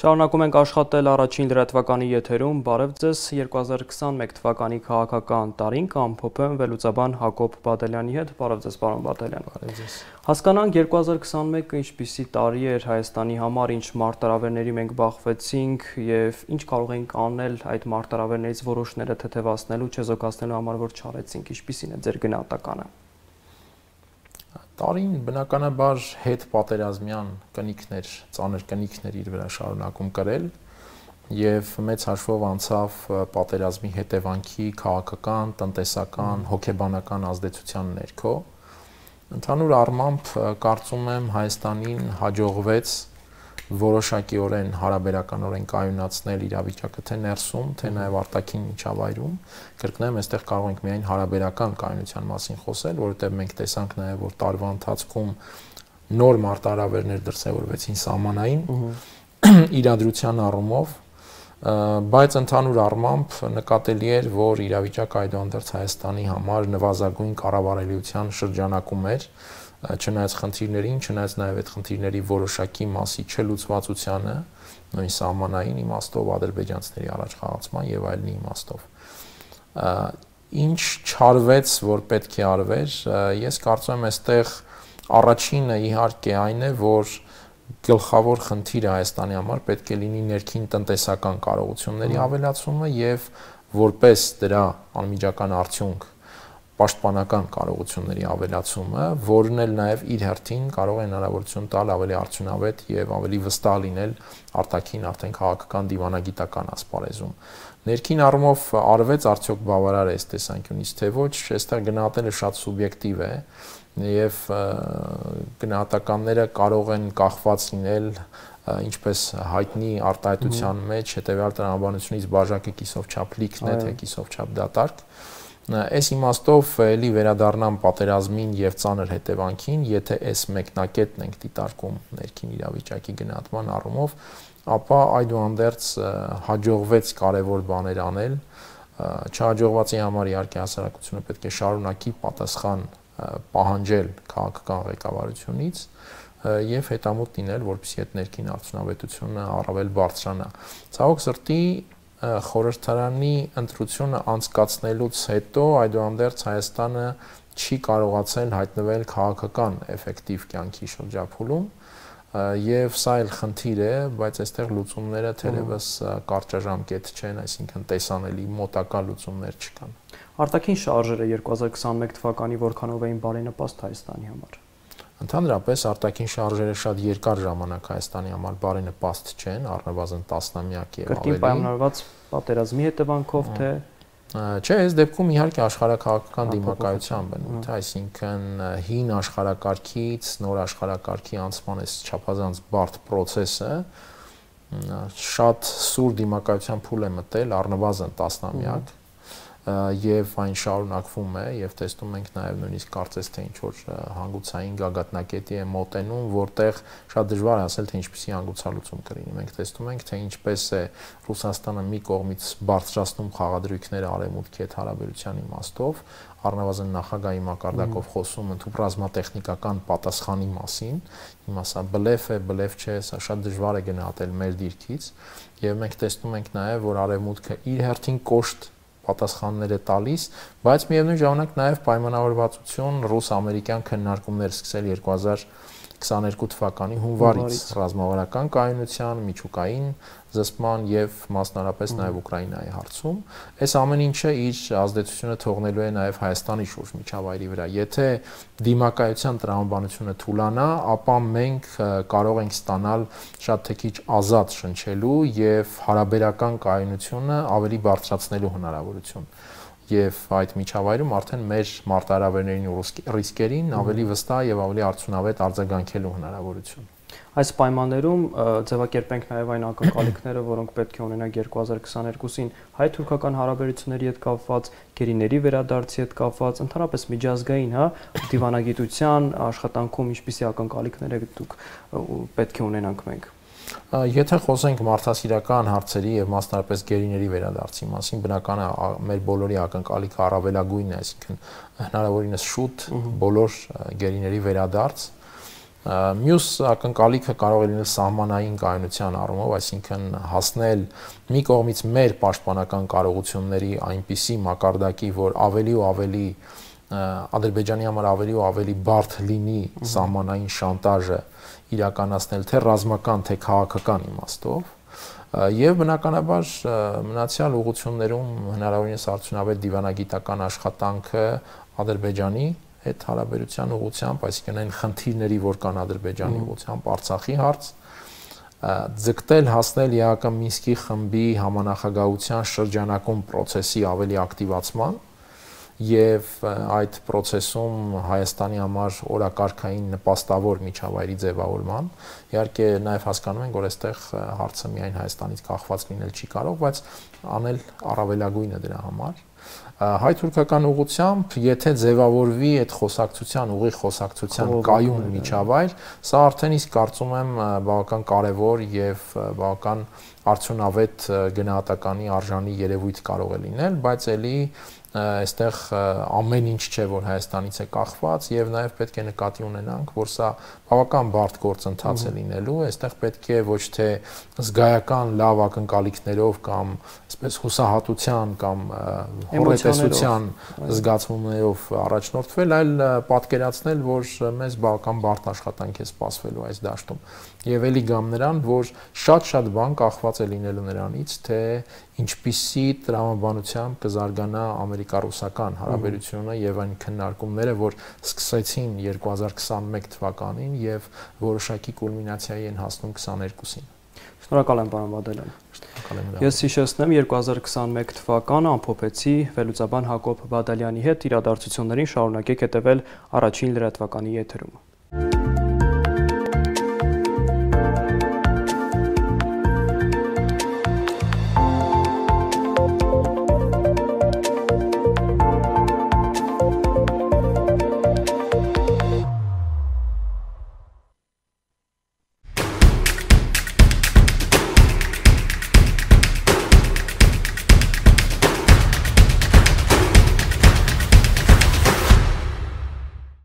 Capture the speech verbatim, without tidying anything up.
Շարունակում ենք աշխատել առաջին լրատվականի եթերում, բարև ձեզ երկու հազար քսաներկու թվականի քաղաքական տարին կամփոփեմ վերլուծաբան Հակոբ Բադալյանի հետ, բարև ձեզ պարոն Բադալյան։ Բարև ձեզ։ Հասկանանք երկու հազար քսաներկը ինչպիսի տարի էր Հայաստանի համար, ինչ մարտահրավերների մենք բախվեցինք եւ ինչ կարող ենք անել այդ մարտահրավերներից որոշները թեթևացնելու, չեզոքացնելու համար, որ չարեցինք, ինչպիսին է ձեր գնահատականը։ Տարին բնականաբար հետ պատերազմյան կնիքներ, ծանր կնիքներ իր վրա շարունակում կրել եւ մեծ հաշվով անցավ պատերազմի հետևանքի քաղաքական, տնտեսական, հոգեբանական ազդեցության ներքո։ Ընդհանուր առմամբ կարծում եմ Հայաստանին հաջողվեց որոշակիորեն հարաբերականորեն կայունացնել իրավիճակը թե ներսում, թե նաև արտաքին միջավայրում։ Կրկնեմ, այստեղ կարող ենք միայն հարաբերական կայունության մասին խոսել, որովհետև մենք տեսանք նաև, որ տարվա ընթացքում նոր մարտահրավերներ դրսևորվեցին սահմանային իրադրության առումով, բայց ընդհանուր առմամբ նկատելի էր, որ իրավիճակը այդուհանդերձ Հայաստանի համար նվազագույն կառավարելիության շրջանակում էր, չնայած խնդիրներին, չնայած նաև այդ խնդիրների որոշակի մասի չլուծվածությանը, նույն սահմանային իմաստով, ադրբեջանցիների առաջխաղացման եւ այլնի իմաստով։ Ինչ չարվեց, որ պետք է արվեր, ես կարծում եմ, այստեղ առաջինը իհարկե այն է, որ գլխավոր խնդիրը Հայաստանի համար պետք է լինի ներքին տնտեսական կարողությունների ավելացումը եւ որպես դրա անմիջական արդյունք պաշտպանական կարողությունների ավելացումը, որն էլ նաև իր հերթին կարող է հնարավորություն տալ ավելի արդյունավետ եւ ավելի վստահ լինել արտաքին արդեն քաղաքական դիվանագիտական ասպարեզում։ Ներքին առումով արվեց արդյոք բավարար է այս տեսանկյունից թե ոչ, այստեղ գնահատելը շատ սուբյեկտիվ է եւ գնահատականները կարող են կախված լինել ինչպես հայտնի արտահայտության մեջ հետեւյալ տրամաբանությունից բաժակը կիսով չափ լիքն է, թե կիսով չափ դատարկ։ Այս իմաստով էլի վերադառնամ պատերազմին եւ ծանր հետևանքին, եթե այս մեկնակետն ենք դիտարկում ներքին իրավիճակի գնահատման առումով, ապա այդուհանդերձ հաջողվեց կարևոր բաներ անել, չհաջողվածի համար իհարկե հասարակությունը պետք է շարունակի պատասխան պահանջել քաղաքական ղեկավարությունից եւ հետամուտ լինել, որպեսզի այդ ներքին արդյունավետությունը առավել բարձրանա։ Ցավոք սրտի խորհրդարանի ընտրությունը անցկացնելուց հետո այդուհանդերձ Հայաստանը չի կարողացել հայտնվել քաղաքական էֆեկտիվ կյանքի շրջափուլում եւ սա էլ խնդիր է, բայց այստեղ լուծումները թերևս կարճաժամկետ չեն, այսինքն տեսանելի մոտակա լուծումներ չկան։ Արտաքին շարժերը երկու հազար քսաներկու թվականի որքանով էին բարենպաստ Հայաստանի համար։ Ընդհանրապես արտաքին շարժերը շատ երկար ժամանակ Հայաստանի համար բարենպաստ չեն, առնվազն տասնամյակ եւ ավելի։ Կրկին պայմանավորված պատերազմի հետևանքով թե չէ, այս դեպքում իհարկե աշխարհակաղակական դիմակայության բնույթ, այսինքն հին աշխարհակարգից նոր աշխարհակարգի անցման այս չափազանց բարդ process-ը շատ սուր դիմակայության փուլ է մտել առնվազն տասնամյակ եւ այն շարունակվում է եւ տեսնում ենք նաեւ նույնիսկ կարծես թե ինչ որ հանգուցային գագաթնակետի է մոտենում, որտեղ շատ դժվար է ասել թե ինչպեսի հանգուցալուծում կլինի։ Մենք տեսնում ենք թե ինչպես է Ռուսաստանը մի կողմից բարձրացնում խաղադրույքները արևմուտքի հետ հարաբերության իմաստով, առնվազն նախագահի մակարդակով խոսում ընդհանուր ռազմատեխնիկական պատասխանի մասին, հիմա սա բլեֆ է, բլեֆ չէ, սա շատ դժվար է գնահատել մեր դիրքից եւ մենք տեսնում ենք նաեւ որ արևմուտքը իր հերթին կոշտ պատասխաններ է տալիս, բայց միևնույն ժամանակ նաև պայմանավորվածություն ռուս-ամերիկյան քննարկումներ սկսել երկու հազար քսաներկու թվականի հունվարից ռազմավարական կայունության, միջուկային զսպման եւ մասնարարպես նաև Ուկրաինայի հարցում։ Այս ամեն ինչը իր ազդեցությունը թողնելու է նաև Հայաստանի շուրջ միջավայրի վրա։ Եթե դիմակայության տրամաբանությունը թուլանա, ապա մենք կարող ենք ստանալ շատ թե քիչ ազատ շնչելու եւ հարաբերական կայունությունը ավելի բարձրացնելու հնարավորություն։ Եվ այդ միջավայրում արդեն մեր մարտահրավերներին ու ռիսկերին ավելի վստահ եւ ավելի արդյունավետ արձագանքելու հնարավորություն։ Այս պայմաններում ձևակերպենք նաև այն ակնկալիքները, որոնք պետք է ունենանք երկու հազար քսաներկուսին հայ-թուրքական հարաբերությունների հետ կապված, գերիների վերադարձի հետ կապված, ընդհանրապես միջազգային, հա, դիվանագիտության աշխատանքում ինչպիսի ակնկալիքներ դուք պետք է ունենանք մենք։ Եթե խոսենք մարդասիրական հարցերի եւ մասնարարպես գերիների վերադարձի մասին, բնական է մեր բոլորի ակնկալիքը առավելագույնն է, այսինքն հնարավորինս շուտ բոլոր գերիների վերադարձ Մյուս ակնկալիքը կարող է լինել սահմանային կայունության առումով, այսինքն հասնել մի կողմից մեր պաշտպանական կարողությունների այնպիսի մակարդակի, որ ավելի ու ավելի Ադրբեջանի համար ավելի ու ավելի բարդ լինի սահմանային շանտաժը իրականացնել թե ռազմական, թե քաղաքական իմաստով, եւ բնականաբար մնացյալ ուղղություններում հնարավորինս արդյունավետ դիվանագիտական աշխատանքը Ադրբեջանի հետ հարաբերության ուղղությամբ, այսինքն այն խնդիրների, որ կան Ադրբեջանի ուղղությամբ, Արցախի հարց, ձգտել հասնել ԵԱՀԿ Մինսկի խմբի համանախագահության շրջանակում process-ի ավելի ակտիվացման եւ այդ process-ում Հայաստանի համար օրակարգային նպաստավոր միջավայրի ձևավորման։ Իհարկե նաեւ հասկանում ենք, որ այստեղ հարցը միայն Հայաստանից կախված լինել չի կարող, բայց անել առավելագույնը դրա համար։ Հայ-թուրքական ուղղությամբ, եթե ձևավորվի այդ խոսակցության, ուղիղ խոսակցության կայուն միջավայր, սա արդեն իսկ կարծում եմ բավական կարևոր եւ բավական արդյունավետ գնահատականի արժանի երևույթ կարող է լինել, բայց ելի այստեղ ամեն ինչ չէ, որ Հայաստանից է կախված եւ նաեւ պետք է նկատի ունենանք, որ սա բավական բարդ գործընթաց է լինելու, այստեղ պետք է ոչ թե զգայական լավ ակնկալիքներով կամ այսպես հուսահատության կամ հորետեսության զգացումներով առաջնորդվել, այլ պատկերացնել, որ մեզ բավական բարդ աշխատանք է սպասվելու այս դաշտում։ Եվ ելի գամ նրան, որ շատ-շատ բան կախված է լինելու նրանից, թե ինչպիսի տրամաբանությամբ կզարգանա ամերիկա-ռուսական հարաբերությունը եւ այն քննարկումները, որ սկսեցին երկու հազար քսանմեկ թվականին եւ որոշակի կուլմինացիայի են հասնում քսաներկուսին։ Շնորհակալ եմ, պարոն Բադալյան։ Շնորհակալ եմ։ Ես հիշեցնեմ երկու հազար քսանմեկ թվականը ամփոփեցի վերլուծաբան Հակոբ Բադալյանի հետ իրադարձություններին շարունակեք հետևել առաջին լրատվականի եթերում։